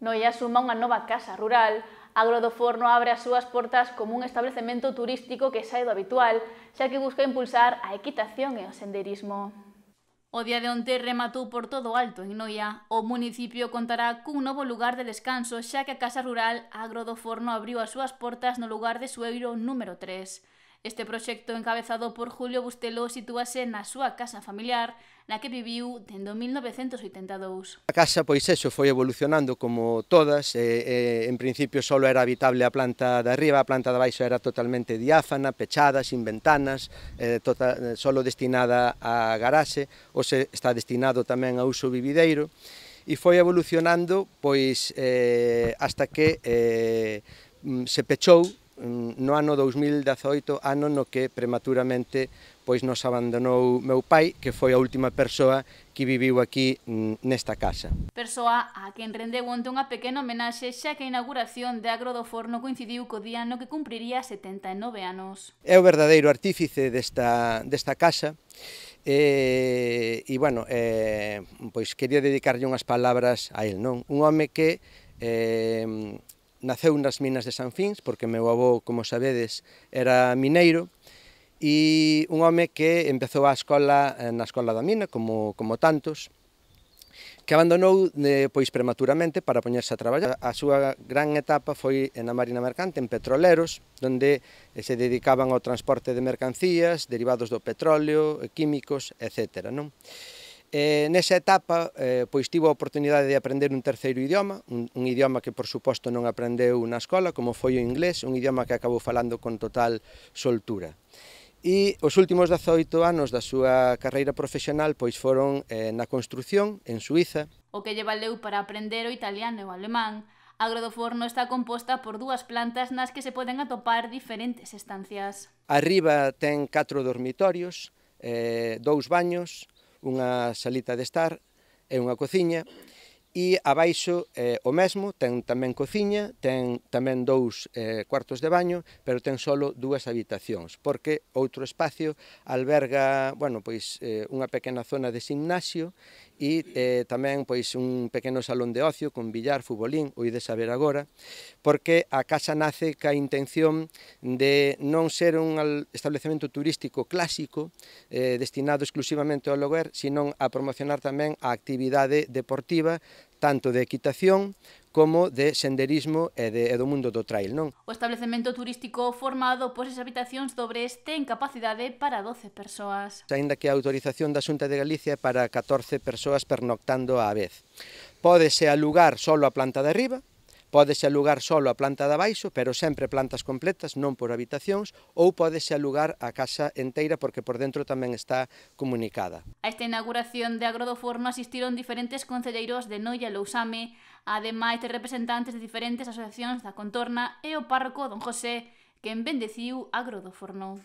Noia suma unha nova casa rural. Agro do Forno abre as súas portas como un establecemento turístico que sae do habitual, xa que busca impulsar a equitación e o senderismo. O día de onte rematou por todo alto en Noia. O municipio contará cun novo lugar de descanso, xa que a Casa Rural Agro do Forno abriu as súas portas no lugar de Sueiro número 3. Este proxecto, encabezado por Julio Bustelo, sitúase na súa casa familiar, na que viviu dende 1982. A casa, pois eso, foi evolucionando como todas, en principio só era habitable a planta de arriba, a planta de baixo era totalmente diáfana, pechada, sin ventanas, solo destinada a garaxe, hoxe está destinado tamén a uso vivideiro, e foi evolucionando pois hasta que se pechou no ano 2018, ano no que prematuramente pois nos abandonou meu pai, que foi a última persoa que viviu aquí nesta casa. Persoa a quen rendeu onte unha pequena homenaxe, xa que a inauguración de Agro do Forno coincidiu co día no que cumpriría 79 anos. É o verdadeiro artífice desta casa, e bueno, pois quería dedicarlle unhas palabras a él, non? Un home que naceu nas minas de San Fins, porque meu avó, como sabedes, era mineiro, e un home que empezou na escola da mina, como tantos, que abandonou pois prematuramente para poñerse a traballar. A súa gran etapa foi na Marina Mercante, en petroleros, onde se dedicaban ao transporte de mercancías, derivados do petróleo, químicos, etc. Nesa etapa, pois tivo a oportunidade de aprender un terceiro idioma, un idioma que, por suposto, non aprendeu na escola, como foi o inglés, un idioma que acabou falando con total soltura. E os últimos 18 anos da súa carreira profesional pois foron na construción, en Suiza. O que lle valeu para aprender o italiano e o alemán. Agro do Forno está composta por dúas plantas nas que se poden atopar diferentes estancias. Arriba ten 4 dormitorios, 2 baños, unha salita de estar e unha cociña, e abaixo o mesmo, ten tamén cociña, ten tamén 2 cuartos de baño, pero ten só 2 habitacións, porque outro espacio alberga, bueno, pois unha pequena zona de gimnasio e tamén pois un pequeno salón de ocio con billar, futbolín, o ides a ver agora, porque a casa nace ca intención de non ser un establecemento turístico clásico destinado exclusivamente ao lugar, sino a promocionar tamén a actividade deportiva, tanto de equitación como de senderismo e do mundo do trail, non? O establecemento turístico formado por 6 habitacións dobres ten capacidade para 12 persoas. Aínda que a autorización da Xunta de Galicia é para 14 persoas pernoctando á vez. Pódese alugar só a planta de arriba, pódese alugar só a planta de abaixo, pero sempre plantas completas, non por habitacións, ou pódese alugar a casa enteira porque por dentro tamén está comunicada. A esta inauguración de Agro do Forno asistiron diferentes concelleiros de Noia e Lousame, ademais de representantes de diferentes asociacións da contorna e o párroco don José, quen bendeciu Agro do Forno.